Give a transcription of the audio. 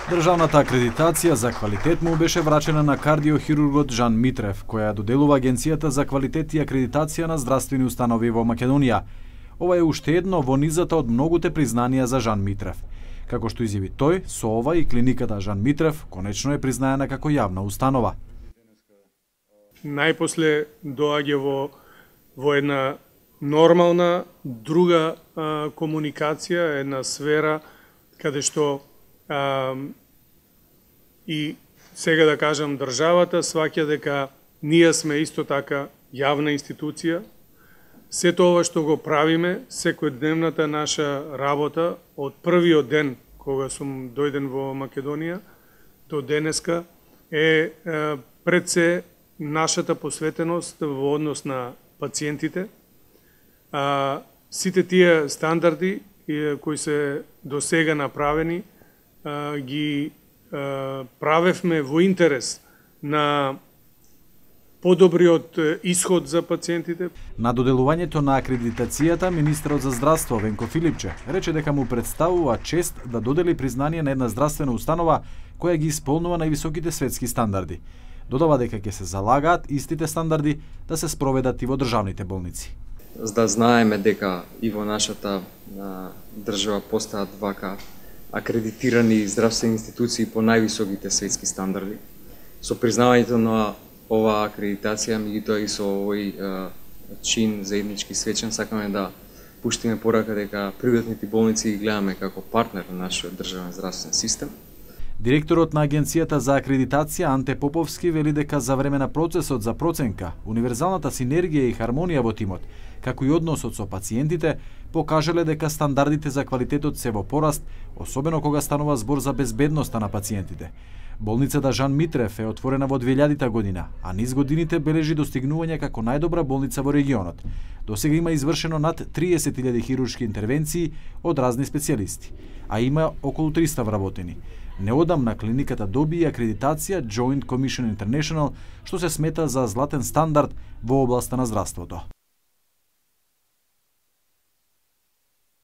Државната акредитација за квалитет му беше врачена на кардиохирургот Жан Митрев, која доделува Агенцијата за квалитет и акредитација на здравствени установи во Македонија. Ова е уште едно во низата од многуте признанија за Жан Митрев. Како што изјави тој, со ова и клиниката Жан Митрев конечно е признаена како јавна установа. Најпосле доаѓа во една нормална друга комуникација, една сфера каде што и сега да кажам државата сваќа дека ние сме исто така јавна институција. Сето ова што го правиме, секојдневната наша работа од првиот ден кога сум дојден во Македонија до денеска е пред се нашата посветеност во однос на пациентите. Сите тие стандарди кои се до сега направени ги правевме во интерес на подобриот исход за пациентите. На доделувањето на акредитацијата, министерот за здравство Венко Филипче рече дека му представува чест да додели признание на една здравствена установа која ги исполнува највисоките светски стандарди. Додава дека ќе се залагаат истите стандарди да се спроведат и во државните болници. За да знаеме дека и во нашата држава постојат вака акредитирани здравствени институции по највисоките светски стандарди. Со признавањето на оваа акредитација, меѓутоа и со овој чин заеднички свечен, сакаме да пуштиме порака дека приватните болници ги гледаме како партнер на нашиот државен здравствен систем. Директорот на Агенцијата за акредитација Анте Поповски вели дека за време на процесот за проценка, универзалната синергија и хармонија во тимот, како и односот со пациентите, покажале дека стандардите за квалитетот се во пораст, особено кога станува збор за безбедноста на пациентите. Болницата Жан Митрев е отворена во 2000 година, а низ годините бележи достигнување како најдобра болница во регионот. Досега има извршено над 30.000 хируршки интервенции од разни специјалисти, а има околу 300 вработени. Неодамна клиниката доби акредитација Joint Commission International, што се смета за златен стандард во областа на здравството.